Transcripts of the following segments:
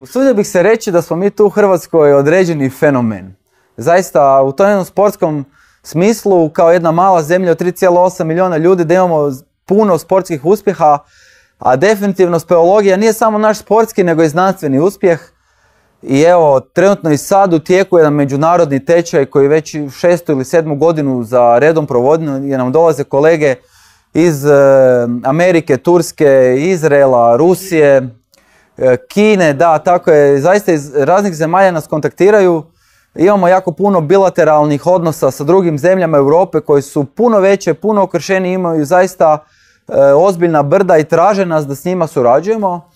Usudio bih se reći da smo mi tu u Hrvatskoj određeni fenomen. Zaista u tom jednom sportskom smislu, kao jedna mala zemlja od 3,8 milijuna ljudi, da imamo puno sportskih uspjeha, a definitivno speologija nije samo naš sportski nego i znanstveni uspjeh. I evo, trenutno i sad u tijeku jedan međunarodni tečaj koji već 6. ili 7. godinu za redom provodimo, jer nam dolaze kolege iz Amerike, Turske, Izraela, Rusije, Kine, da, tako je, zaista iz raznih zemalja nas kontaktiraju. Imamo jako puno bilateralnih odnosa sa drugim zemljama Europe koji su puno veće, puno okršeni, imaju zaista ozbiljna brda i traže nas da s njima surađujemo.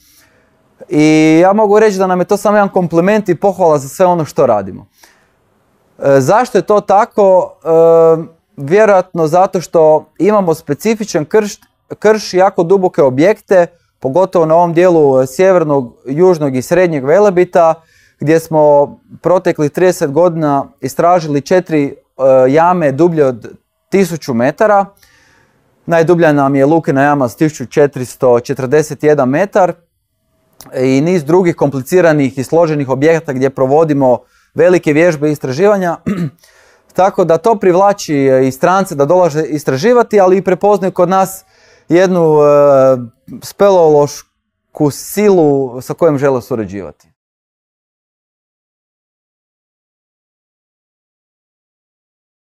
I ja mogu reći da nam je to samo jedan kompliment i pohvala za sve ono što radimo. Zašto je to tako? Vjerojatno zato što imamo specifičan krš, jako duboke objekte, pogotovo na ovom dijelu sjevernog, južnog i srednjeg Velebita, gdje smo proteklih 30 godina istražili 4 jame dublje od 1000 metara. Najdublja nam je Lukina jama s 1441 metar i niz drugih kompliciranih i složenih objekata gdje provodimo velike vježbe i istraživanja. Tako da to privlači i strance da dolaze istraživati, ali i prepoznaju kod nas jednu speleološku silu sa kojom žele surađivati.